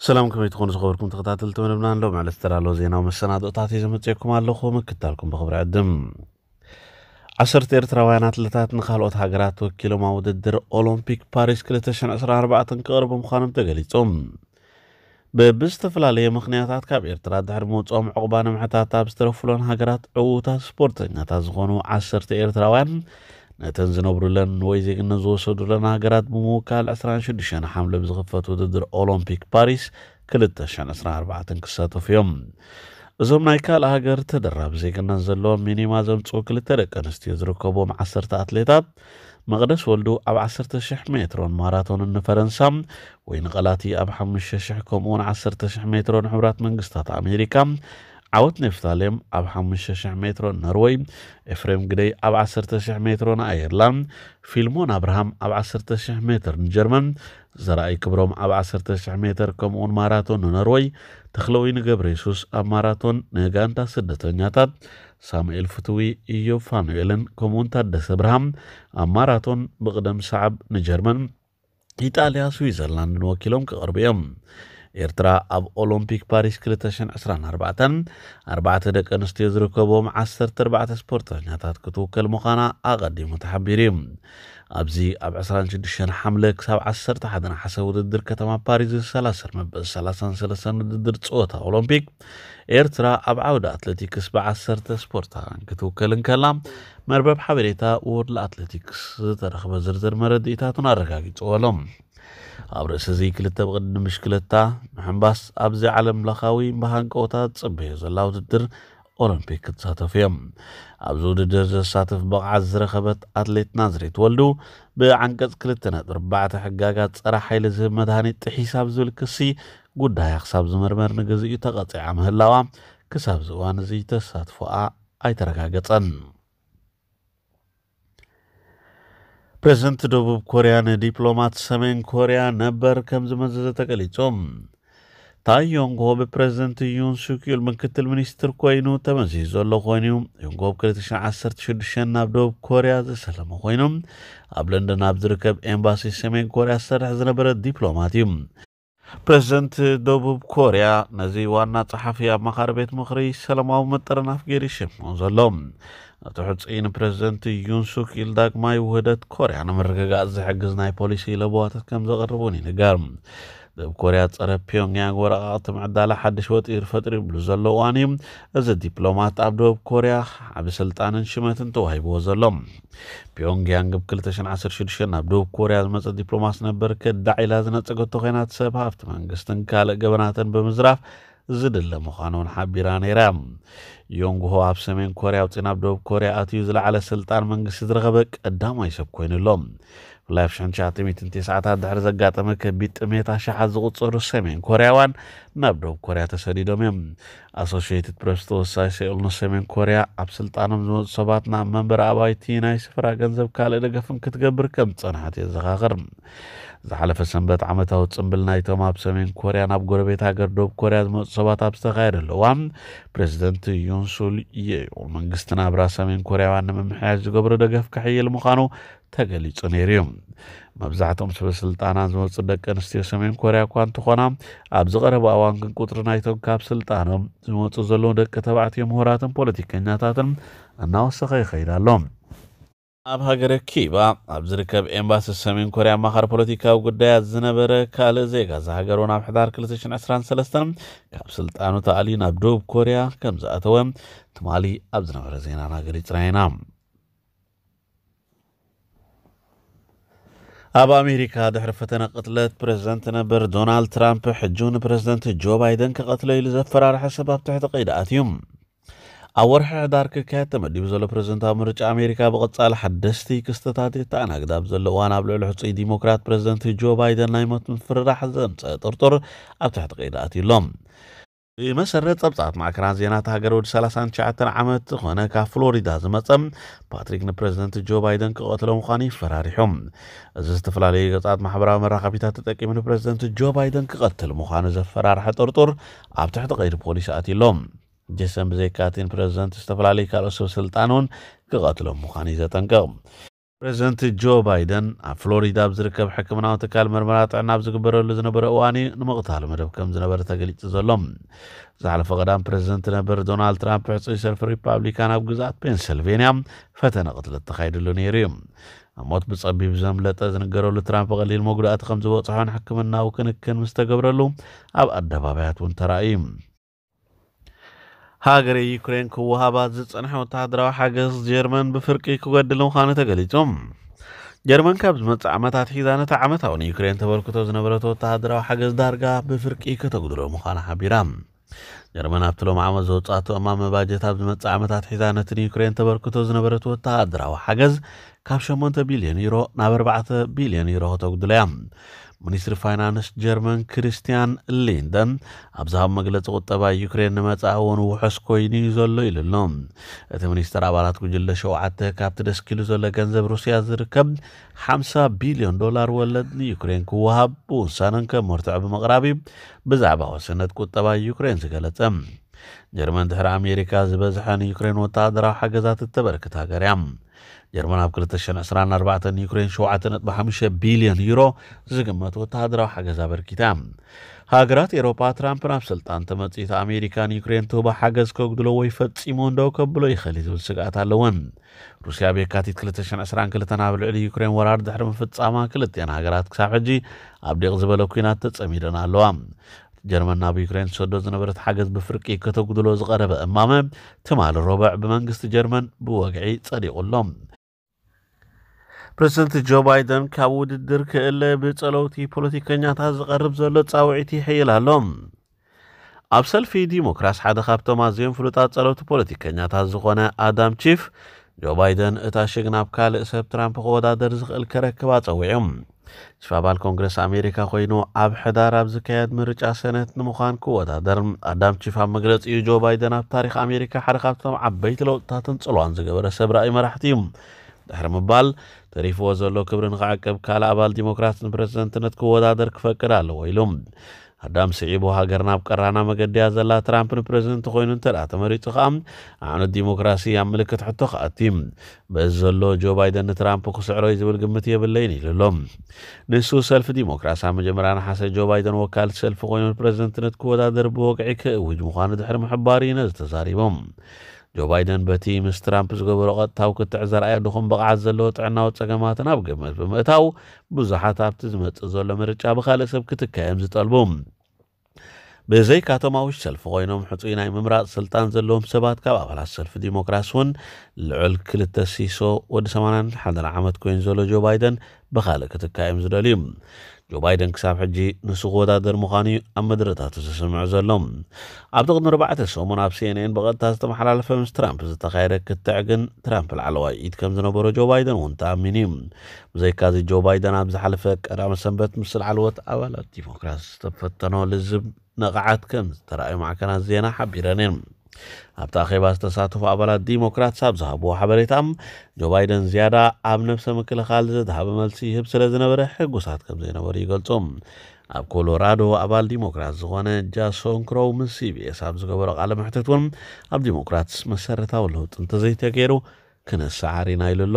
ሰላም፣ ከመይ ትኾኑ ዝኸበርኩም ተኸታተልቲ መደብና? ኣሎ ማለት ዝተዳለወ ዜናዊ መሰናዶታት እዩ ዘመፅየኩም ኣለኹ። ምክታልኩም ብኽብሪ ዕድም። ዓሰርተ ኤርትራውያን ኣትለታት ንካልኦት ሃገራት ወኪሎም ኣብ ውድድር ኦሎምፒክ ፓሪስ ክልተ ሽሕን ዕስራን ኣርባዕተን ክቐርቡ ምዃኖም ተገሊጹ። ብብዝተፈላለየ ምኽንያታት ካብ ኤርትራ ድሕሪ ምውፅኦም ዕቑባ ንምሕታት ኣብ ዝተረፉለን ሃገራት ዕዉታት ስፖርተኛታት ዝኾኑ ዓሰርተ ኤርትራውያን ነተን ዝነብሩለን ወይ ዜግነት ዝወሰዱለን ሃገራት ብምውካል ዕስራን ሽዱሽተን ሓምለ ብዝኽፈት ውድድር ኦሎምፒክ ፓሪስ ክልተ ሽሕን ዕስራን ኣርባዕተን ክሳተፉ እዮም። እዞም ናይ ካልእ ሃገር ተደራቢ ዜግነት ዘለዎም ሚኒማ ዘምፅኡ ክልተ ደቂ ኣንስትዮ ዝርከብዎም ዓሰርተ ኣትሌታት መቕደስ ወልዱ ኣብ ዓሰርተ ሽሕ ሜትሮን ማራቶንን ንፈረንሳ፣ ወይኒ ቐላቲ ኣብ ሓሙሽተ ሽሕ ከምኡውን ዓሰርተ ሽሕ ሜትሮ ንሕቡራት መንግስታት ኣሜሪካ፣ ዓወት ኔፍታሌም ኣብ ሓሙሽተ ሽሕ ሜትሮ ኖርወይ፣ ኤፍሬም ግደይ ኣብ ዓሰርተ ሽሕ ሜትሮ ንኣየርላንድ፣ ፊልሞን ኣብርሃም ኣብ ዓሰርተ ሽሕ ሜትር ንጀርመን፣ ዘርኣይ ክብሮም ኣብ ዓሰርተ ሽሕ ሜትር ከምኡውን ማራቶን ንኖርወይ፣ ተኽለወይኒ ገብረ የሱስ ኣብ ማራቶን ንጋንታ ስደተኛታት፣ ሳሙኤል ፍትዊ፣ ኢዮብ ፋኑኤልን ከምኡውን ታደሰ ብርሃም ኣብ ማራቶን ብቕደም ሰዓብ ንጀርመን፣ ኢጣልያ፣ ስዊዘርላንድን ወኪሎም ክቐርቡ እዮም። ኤርትራ ኣብ ኦሎምፒክ ፓሪስ ክልተ ሽሕን ዕስራን ኣርባዕተን ኣርባዕተ ደቂ ኣንስትዮ ዝርከብዎም ዓሰርተ ኣርባዕተ ስፖርተኛታት ክትውከል ምዃና ኣቐዲሙ ተሓቢሩ እዩ። ኣብዚ ኣብ ዕስራን ሽዱሽተን ሓምለ ክሳብ ዓሰርተ ሓደ ነሓሰ ውድድር ከተማ ፓሪስ ዝሰላሰል መበል ሰላሳን ሰለስተን ውድድር ጸወታ ኦሎምፒክ ኤርትራ ኣብ ዓውዲ ኣትሌቲክስ ብዓሰርተ ስፖርታውያን ክትውከል እንከላ፣ መርበብ ሓበሬታ ወርልድ ኣትሌቲክስ ዝተረኽበ ዝርዝር መረድኢታቱን ኣረጋጊጽዎ ኣሎ። ኣብ ርእሲ እዚ ክልተ ብቕዲ ብሽክለታ ምሕንባስ ኣብዚ ዓለም ለኻዊ ብሃንቀውታ ዝጽበዮ ዘላ ውድድር ኦሎምፒክ ክትሳተፉ እዮም። ኣብዚ ውድድር ዘሳትፍ ብቕዓት ዝረኸበት ኣትሌት ናዝሬት ወልዱ ብዓንቀጽ ክልተ ነጥቢ ኣርባዕተ ሕጋጋት ጸረ ሓይሊ ዝህብ መድሃኒት ጥሒሳ ብዝብል ክሲ ጉዳያ ክሳብ ዝምርመር ንግዚኡ ተቐጺዓ ምህላዋ ክሳብ እዚ እዋን እዚ ተሳትፎኣ ኣይተረጋገጸን። ፕሬዝደንት ደቡብ ኮርያ ንዲፕሎማት ሰሜን ኮርያ ነበር ከም ዝመዘዘ ተገሊጹ። ታይ ዮንግ ሆ ብፕሬዝደንት ዩን ሱክ ዩል ምክትል ሚኒስትር ኮይኑ ተመዚዙ ዘሎ ኮይኑ፣ ዮንግ ሆ ብ ክልተ ሽሕን ዓሰርተ ሽዱሽተን ናብ ደቡብ ኮርያ ዝሰለመ ኮይኑ፣ ኣብ ለንደን ኣብ ዝርከብ ኤምባሲ ሰሜን ኮርያ ዝሰርሕ ዝነበረ ዲፕሎማት እዩ። ፕሬዝደንት ደቡብ ኮርያ ነዚ ዋና ጸሓፊ ኣማኻሪ ቤት ምኽሪ ሰላማዊ ምጥርናፍ ገይሩ ይሽምዖ ዘሎ። እቲ ሕጹይ ንፕሬዝደንት ዩን ሱክ ዩል ዳግማይ ውህደት ኮርያ ንምርግጋጽ ዝሕግዝ ናይ ፖሊሲ ለበዋታት ከም ዘቕርብ እውን ይንገር። ደቡብ ኮርያ ጸረ ፒዮንግያንግ ወረቓቕቲ ምዕዳላ ሓድሽ ወጢር ፈጥሩ ይብሉ ዘሎ እዋን እዩ። እዚ ዲፕሎማት ኣብ ደቡብ ኮርያ ዓቢ ስልጣንን ሽመትን ተዋሂብዎ ዘሎ። ፒዮንግያንግ ብ ክልተ ሽሕን ዓሰርተ ሽዱሽተን ናብ ደቡብ ኮርያ ዝመጸ ዲፕሎማት ነበር ከዳዕ ኢላ ዝነጸገቶ ኮይና፣ ሰብ ሃፍቲ መንግስትን ካልእ ገበናትን ብምዝራፍ ዝድለ ምዃኑ እውን ሓቢራ ነይራ። ዮንግ ሆ ኣብ ሰሜን ኮርያ ኣውጺኡ ናብ ደቡብ ኮርያ ኣትዩ ዝለዓለ ስልጣን መንግስቲ ዝረኸበ ቀዳማይ ሰብ ኮይኑ ኣሎ። ብፍላይ ኣብ ሽሕን ትሽዓተ ሚእትን ተስዓታት ድሕሪ ዘጋጠመ ከቢድ ጥሜት ኣሽሓት ዝቑጸሩ ሰሜን ኮርያውያን ናብ ደቡብ ኮርያ ተሰዲዶም እዮም። ኣሶሽየትድ ፕሬስ ተወሳኺ ሴኡል ንሰሜን ኮርያ ኣብ ስልጣኖም ዝመፁ ሰባት ናብ መንበሪ ኣባይቲ ናይ ስፍራ ገንዘብ ካልእ ደገፍን ክትገብር ከም ዝፀንሐት የዘኻኽር። ዝሓለፈ ሰንበት ዓመታዊ ፅምብል ናይቶም ኣብ ሰሜን ኮርያ ናብ ጎረቤት ሃገር ደቡብ ኮርያ ዝመፁ ሰባት ኣብ ዝተኻየደሉ እዋን ፕሬዚደንት ዩንሱል የዮል መንግስቲ ናብራ ሰሜን ኮርያውያን ንምምሕያሽ ዝገብሮ ደገፍ ክሕይል ምዃኑ ተገሊጹ ነይሩ እዩ። መብዛሕትኦም ሰበ ስልጣናት ዝመፁ ደቂ ኣንስትዮ ሰሜን ኮርያ እኳ እንተኾና፣ ኣብዚ ቀረባ እዋን ግን ቁፅሪ ናይቶም ካብ ስልጣኖም ዝመፁ ዘለዉ ደቂ ተባዕትዮ ምሁራትን ፖለቲከኛታትን እናወሰኸ ይኸይድ ኣሎ። ኣብ ሃገረ ኪባ ኣብ ዝርከብ ኤምባሲ ሰሜን ኮርያ ኣማኻሪ ፖለቲካዊ ጉዳያት ዝነበረ ካልእ ዜጋ እዛ ሃገር እውን ኣብ ሕዳር ክልተ ሽሕን ዕስራን ሰለስተን ካብ ስልጣኑ ተኣልዩ ናብ ደቡብ ኮርያ ከም ዝኣተወ ትማሊ ኣብ ዝነበረ ዜናና ገሊጽና ኢና። ኣብ ኣሜሪካ ድሕሪ ፈተነ ቅትለት ፕሬዝደንት ነበር ዶናልድ ትራምፕ ሕጂ ንፕሬዝደንት ጆ ባይደን ክቐትሎ ኢሉ ዘፈራርሐ ሰብ ኣብ ትሕቲ ቀይዲ ኣትዩ። ኣብ ወርሒ ሕዳር ክካየድ ተመዲቡ ዘሎ ፕሬዝደንታዊ ምርጫ ኣሜሪካ ብቐጻሊ ሓደስቲ ክስተታት የተኣናግድ ኣብ ዘሎ እዋን ኣብ ልዕሊ ሕጹይ ዲሞክራት ፕሬዝደንት ጆ ባይደን ናይ ሞት ምፍርራሕ ዘምጸ ጥርጡር ኣብ ትሕቲ ቀይዲ ኣትዩ ኣሎ። ብመሰረት ጸብጻባት ማዕከናት ዜና እታ ሃገር ወዲ ሰላሳን ትሽዓተን ዓመት ዝኾነ ካብ ፍሎሪዳ ዝመጸ ፓትሪክ ንፕሬዝደንት ጆ ባይደን ክቐትሎ ምዃኑ ይፈራሪሑ። እዚ ዝተፈላለዩ ገጻት ማሕበራዊ መራኸቢታት ተጠቂሙ ንፕሬዝደንት ጆ ባይደን ክቐትል ምዃኑ ዘፈራርሐ ጥርጡር ኣብ ትሕቲ ቀይዲ ፖሊስ ኣትዩ ኣሎ። ጄሰን ብዘይካቲ ንፕሬዝደንት ዝተፈላለዩ ካልኦት ሰብ ስልጣን እውን ክቐትሎም ምዃኑ እዩ ዘጠንቅቕ። ፕሬዚደንት ጆ ባይደን ኣብ ፍሎሪዳ ኣብ ዝርከብ ሕክምናዊ ትካል ምርመራ ጥዕና ኣብ ዝግበረሉ ዝነበረ እዋን እዩ ንምቕታሉ መደብ ከም ዝነበረ ተገሊጹ ዘሎ። ዝሓለፈ ቀዳም ፕሬዚደንት ነበር ዶናልድ ትራምፕ ሕጹይ ሰልፊ ሪፓብሊካን ኣብ ግዝኣት ፔንሰልቬንያ ፈተነ ቅትለት ተኻይድሉ ነይሩ እዩ። ኣብ ሞት ብጸቢብ ዘምለጠ ዝንገረሉ ትራምፕ ቀሊል መጉዳእቲ ከም ዝበጽሖን ሕክምናዊ ክንክን ምስ ተገብረሉ ኣብ ኣደባባያት እውን ተራእዩ። ሃገረ ዩክሬን ክወሃባ ዝጸንሐ ወተሃደራዊ ሓገዝ ጀርመን ብፍርቂ ክጎድል ምዃኑ ተገሊጹ። ጀርመን ካብ ዝመጽእ ዓመታት ሒዛ ነቲ ዓመታዊ ንዩክሬን ተበርክቶ ዝነበረት ወተሃደራዊ ሓገዝ ዳርጋ ብፍርቂ ከተጉድሎ ምዃና ሓቢራ። ጀርመን ኣብቲ ሎም ዓመት ዘውጻእቶ እማመ ባጀት ኣብ ዝመጽእ ዓመታት ሒዛ ነቲ ንዩክሬን ተበርክቶ ዝነበረት ወተሃደራዊ ሓገዝ ካብ ሸሞንተ ቢልዮን ዩሮ ናብ ኣርባዕተ ቢልዮን ዩሮ ከተጉድሎ እያ። ሚኒስትሪ ፋይናንስ ጀርመን ክሪስቲያን ሊንደን ኣብ ዝሃብ መግለጺ፣ ቁጠባ ዩክሬን ንመጻኢ እውን ውሑስ ኮይኑ እዩ ዘሎ ኢሉ ኣሎ። እቲ ሚኒስተር ኣባላት ጉጅለ ሸውዓተ ካብቲ ደስኪሉ ዘሎ ገንዘብ ሩስያ ዝርከብ ሓምሳ ቢልዮን ዶላር ወለድ ንዩክሬን ክወሃብ ብውሳነን ከም መርትዖ ብምቕራብ እዩ ብዛዕባ ወሰነት ቁጠባ ዩክሬን ዝገለጸ። ጀርመን ድሕሪ ኣሜሪካ ዝበዝሐ ንዩክሬን ወተሃደራዊ ሓገዛት እተበርክት ሃገር እያ። ጀርመን ኣብ ክልተ ሽሕን ዕስራን ኣርባዕተን ንዩክሬን ሸውዓተ ነጥቢ ሓሙሽተ ቢልዮን ዩሮ ዝግመት ወተሃደራዊ ሓገዝ ኣበርኪታ። ሃገራት ኤሮፓ ትራምፕ ናብ ስልጣን ተመጺኡ ኣሜሪካ ንዩክሬን ትህቦ ሓገዝ ከጉድሎ ወይ ፈጺሙ እንደው ከብሎ ይኽእል ዝብል ስግኣት ኣለወን። ሩስያ ኣብ የካቲት ክልተ ሽሕን ዕስራን ክልተን ኣብ ልዕሊ ዩክሬን ወራር ድሕሪ ምፍጻማ ክልቲኣን ሃገራት ክሳብ ሕጂ ኣብ ዲቕ ዝበለ ኲናት ተጸሚደን ኣለዋ። ጀርመን ናብ ዩክሬን ትሰዶ ዝነበረት ሓገዝ ብፍርቂ ከተጉድሎ ዝቐረበ እማመ ትማሊ ረቡዕ ብመንግስቲ ጀርመን ብወግዒ ጸዲቑ ኣሎ። ፕሬዚደንት ጆ ባይደን ካብ ውድድር ክእለ ብጸለውቲ ፖለቲከኛታት ዝቐርብ ዘሎ ጻውዒት ይሕይል ኣሎ። ኣብ ሰልፊ ዲሞክራስ ሓደ ካብቶም ኣዝዮም ፍሉጣት ጸለውቲ ፖለቲከኛታት ዝኾነ ኣዳም ቺፍ፣ ጆ ባይደን እታ ሽግ ናብ ካልእ ሰብ ትራምፕ ክወዳደር ዝኽእል ከረክብ ኣጸዊዑ። ቺፍ ኣባል ኮንግረስ ኣሜሪካ ኮይኑ ኣብ ሕዳር ኣብ ዝካየድ ምርጫ ሰነት ንምዃን ክወዳደር። ኣዳም ቺፍ ኣብ መግለጺኡ፣ ጆ ባይደን ኣብ ታሪኽ ኣሜሪካ ሓደ ካብቶም ዓበይቲ ለውጥታትን ጽልዋን ዝገበረ ሰብ ራእይ መራሕቲ እዩ ድሕሪ ምባል፣ ተሪፍዎ ዘሎ ክብሪ ንኽዕቅብ ካልእ ኣባል ዲሞክራት ንፕሬዝደንትነት ክወዳደር ክፈቅድ ኣለዎ ኢሉ። ኣዳም ስዒቡ፣ ሃገርና ኣብ ቀራና መገዲ እያ ዘላ፣ ትራምፕ ንፕሬዝደንት ኮይኑ እንተ ደኣ ተመሪጹ ከኣ ኣዕኑድ ዲሞክራሲ ኣብ ምልክት ሕቶ ክኣቲ። በዚ ዘሎ ጆ ባይደን ንትራምፕ ክስዕሮ እዩ ዝብል ግምት የብለይን ኢሉ ኣሎ። ንሱ ሰልፊ ዲሞክራት ኣብ መጀመርያ ነሓሰ ጆ ባይደን ወካልቲ ሰልፊ ኮይኑ ንፕሬዝደንትነት ክወዳደር ብወግዒ ክእውጅ ምዃኑ ድሕሪ ምሕባሩ እዩ ነዚ ተዛሪቡ። ጆ ባይደን በቲ ምስ ትራምፕ ዝገበሮ ቀጥታዊ ክትዕ ዘርኣዮ ድኹም ብቕዓት ዘለዎ ጥዕናዊ ጸገማትን ኣብ ግምት ብምእታው ብዙሓት ኣብቲ ዝመጽእ ዘሎ ምርጫ ብኻልእ ሰብ ክትካ እዮም ዝጠልቡ። ብዘይካቶም ኣብ ውሽጢ ሰልፊ ኮይኖም ሕጹይ ናይ ምምራጽ ስልጣን ዘለዎም ሰባት ካብ ኣባላት ሰልፊ ዲሞክራሲ እውን ልዑል ክልተ ሲሶ ወዲ ሰማንያን ሓደን ዓመት ኮይኑ ዘሎ ጆ ባይደን ብኻልእ ክትካ እዮም ዝደልዩ። ጆ ባይደን ክሳብ ሕጂ ንሱ ክወዳደር ምዃኑ እዩ ኣብ መድረታቱ ዝስምዑ ዘሎ። ኣብቲ ቅድሚ ኣርባዕተ ሰሙን ኣብ ሲኤንኤን ብቐጥታ ዝተመሓላለፈ ምስ ትራምፕ ዝተኻየደ ክትዕ ግን ትራምፕ ላዕለዋይ ኢድ ከም ዝነበሮ ጆ ባይደን እውን ተኣሚኑ እዩ። ብዘይካዚ ጆ ባይደን ኣብ ዝሓለፈ ቀዳመ ሰንበት ምስ ላዕለዎት ኣባላት ዲሞክራት ዝተፈተኖ ልዝብ ንቕዓት ከም ዝተረኣዩ ማዕከናት ዜና ሓቢረን እየን። ኣብቲ ኣኼባ ዝተሳተፉ ኣባላት ዲሞክራትስ ኣብ ዝሃብዎ ሓበሬታ፣ ጆ ባይደን ዝያዳ ኣብ ነብሰ ምክልኻል ዘድሃበ መልሲ ይህብ ስለ ዝነበረ ሕጉሳት ከም ዘይነበሩ ይገልጹ። ኣብ ኮሎራዶ ኣባል ዲሞክራት ዝኾነ ጃሶን ክሮው ምስ ሲቢኤስ ኣብ ዝገበሮ ቃለ መሕትት እውን ኣብ ዲሞክራትስ መሰረታዊ ለውጢ እንተዘይተገይሩ ክነሰዓር ኢና ኢሉ ኣሎ።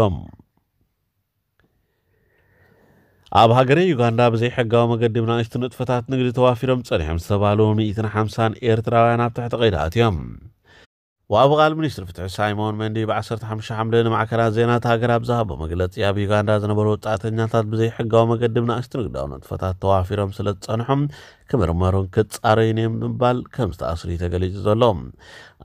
ኣብ ሃገረ ዩጋንዳ ብዘይሕጋዊ መገዲ ብናእሽቱ ንጥፈታት ንግዲ ተዋፊሮም ጸኒሖም ዝተባህሉ ሚእትን ሓምሳን ኤርትራውያን ኣብ ትሕቲ ቀይዲ ኣትዮም። ወሃቢ ቃል ሚኒስትሪ ፍትሒ ሳይሞን መንዲ ብ ዓሰርተ ሓሙሽተ ሓምለ ንማዕከናት ዜና እታ ሃገር ኣብ ዝሃቦ መግለጺ፣ ኣብ ዩጋንዳ ዝነበሩ ወጻእተኛታት ብዘይሕጋዊ መገዲ ብናእሽቱ ንግዳዊ ንጥፈታት ተዋፊሮም ስለ ዝጸንሖም ክምርመሩን ክጻረዩን እዮም ብምባል ከም ዝተኣስሩ እዩ ተገሊጹ ዘሎ።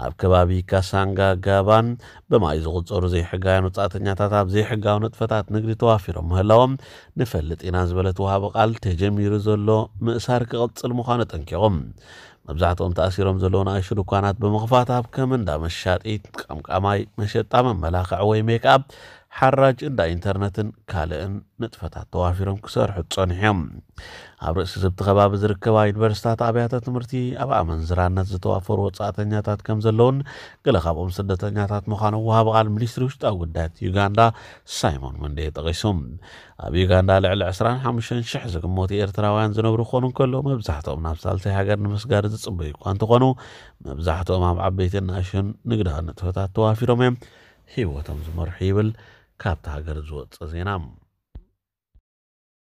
ኣብ ከባቢ ካሳንጋ ጋባን ብማይ ዝቑጸሩ ዘይሕጋውያን ወጻእተኛታት ኣብ ዘይሕጋዊ ንጥፈታት ንግዲ ተዋፊሮም ምህላዎም ንፈልጥ ኢና ዝበለት ወሃቢ ቃል፣ ተጀሚሩ ዘሎ ምእሳር ክቕጽል ምዃኑ ኣጠንቂቖም። መብዛሕትኦም ተኣሲሮም ዘለዉ ንኣሽቱ ድኳናት ብምኽፋት ኣብ ከም እንዳ መሻጢት፣ ቀምቃማይ፣ መሸጣ መመላኽዒ ወይ ሜክኣፕ፣ ሓራጅ፣ እንዳ ኢንተርነትን ካልእን ንጥፈታት ተዋፊሮም ክሰርሑ ጸኒሖም። ኣብ ርእሲ ዝብቲ ከባቢ ዝርከባ ዩኒቨርሲታት፣ ኣብያተ ትምህርቲ ኣብ ኣመንዝራነት ዝተዋፈሩ ወጻእተኛታት ከም ዘለውን ገለ ካብኦም ስደተኛታት ምዃኖም ወሃቢ ቃል ሚኒስትሪ ውሽጣዊ ጉዳያት ዩጋንዳ ሳይሞን መንዴ ጠቒሱ። ኣብ ዩጋንዳ ልዕሊ ዕስራን ሓሙሽተን ሽሕ ዝግመቱ ኤርትራውያን ዝነብሩ ክኾኑ እንከለዉ፣ መብዛሕትኦም ናብ ሳልሳይ ሃገር ንምስጋር ዝጽበዩ እኳ እንተኾኑ፣ መብዛሕትኦም ኣብ ዓበይትን ንኣሽቱን ንግዳዊ ንጥፈታት ተዋፊሮም እዮም ህይወቶም ዝመርሑ ይብል ካብታ ሃገር ዝወጸ ዜና።